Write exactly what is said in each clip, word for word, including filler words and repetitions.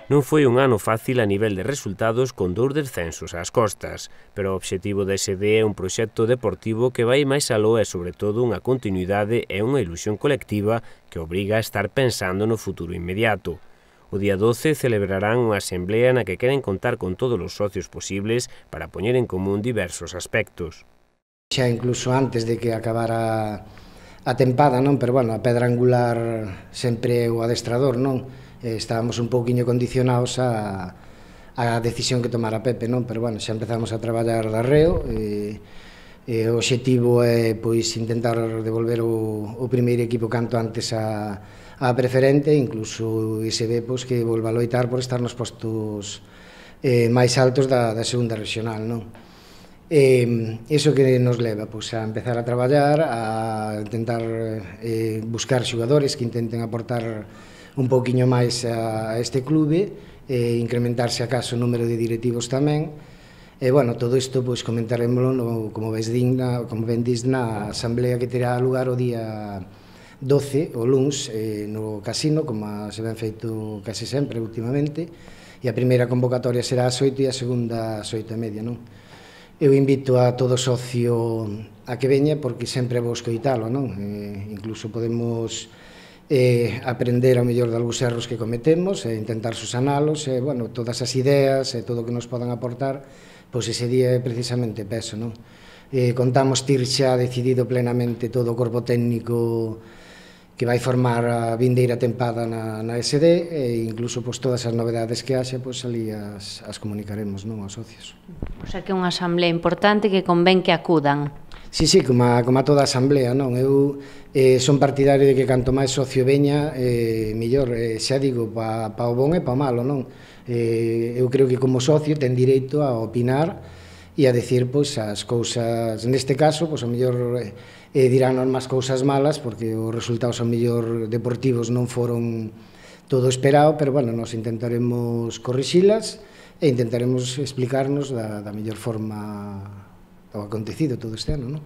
Non foi un ano fácil a nivel de resultados con dous descensos ás costas, pero o obxectivo da S D é un proxecto deportivo que vai máis aló e sobre todo unha continuidade e unha ilusión colectiva que obriga a estar pensando no futuro inmediato. O día doce celebrarán unha asamblea na que queren contar con todos os socios posibles para poñer en común diversos aspectos. Xa incluso antes de que acabara a tempada, non? Pero, bueno, a pedra angular sempre é o adestrador, non? Estábamos un pouquiño condicionados a, a decisión que tomara Pepe, non? Pero, bueno, xa empezamos a traballar de arreo e, e o obxectivo é, pois, intentar devolver o, o primeiro equipo canto antes a, a preferente, incluso ese ve, pois, que volva a loitar por estar nos postos eh, máis altos da, da segunda regional, non? Eh, iso que nos leva pois, a empezar a traballar, a intentar eh, buscar xogadores que intenten aportar un pouquiño máis a, a este clube, eh, incrementarse acaso o número de directivos tamén. E, bueno, todo isto pois, comentaremoslo, no, como, ves digna, como ben dis, na asamblea que terá lugar o día doce, o luns, eh, no casino, como se ven feito case sempre últimamente, e a primeira convocatoria será ás oito e a segunda ás oito e media, non? Eu invito a todo socio a que veña porque sempre vou escoitalo, non? Eh, incluso podemos eh, aprender ao mellor de algúns erros que cometemos e intentar susanalos, e, bueno, todas as ideas e todo o que nos podan aportar, pois ese día é precisamente peso, non? Eh, contamos tir xa decidido plenamente todo o corpo técnico que vai formar a vindeira tempada na, na S D e incluso pois, todas as novedades que haxa, pois ali as, as comunicaremos, non, aos socios. O sea que é unha asamblea importante que convén que acudan. Sí, sí, como a, como a toda a asamblea, non? Eu eh, son partidario de que canto máis socio veña, eh, mellor, eh, xa digo, pa, pa o bon e pa o malo, non? Eh, eu creo que como socio ten direito a opinar e a decir, pois, as cousas, neste caso, pois, a mellor eh, dirán máis cousas malas, porque os resultados, a mellor, deportivos non foron todo esperado, pero, bueno, nos intentaremos corrixilas e intentaremos explicarnos da, da mellor forma o acontecido todo este ano, non?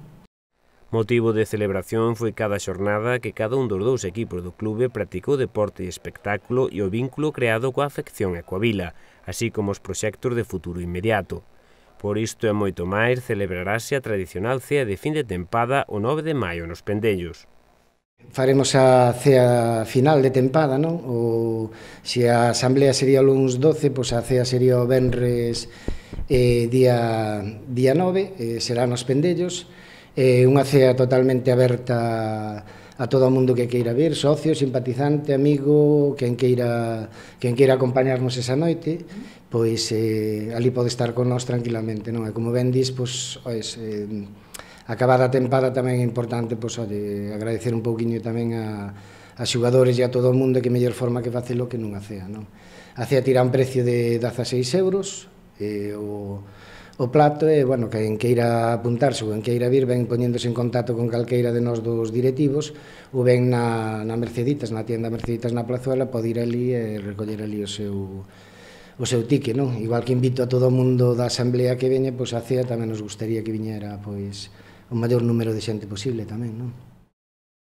Motivo de celebración foi cada xornada que cada un dos dous equipos do clube practicou deporte e espectáculo e o vínculo creado coa afección e coa vila, así como os proxectos de futuro inmediato. Por isto e moito máis, celebrarase a tradicional cea de fin de tempada o nove de maio nos Pendellos. Faremos a cea final de tempada, non? O, se a asamblea sería o luns doce, pois a cea sería o venres eh, día, día nove, eh, será nos Pendellos, eh, unha cea totalmente aberta a todo o mundo que queira vir, socio, simpatizante, amigo, quen queira, quen queira acompañarnos esa noite, pois eh, ali pode estar con nós tranquilamente, non? E como ben dis, pois, ois, eh, acabada a tempada tamén é importante, pois, oye, agradecer un pouquiño tamén a, a xogadores e a todo o mundo que mellor forma que facelo que nunha cea, non? A cea tira un precio de dezaseis euros, eh, o, o plato e, bueno, quen queira apuntarse ou quen queira vir, ven poñéndose en contacto con calqueira de nós dos directivos ou ven na, na Merceditas, na tienda Merceditas na Plazuela, pode ir ali e recoller ali o seu o seu tique, non? Igual que invito a todo o mundo da asamblea que veña, pois a cea tamén nos gustaría que viñera, pois, o maior número de xente posible tamén, non?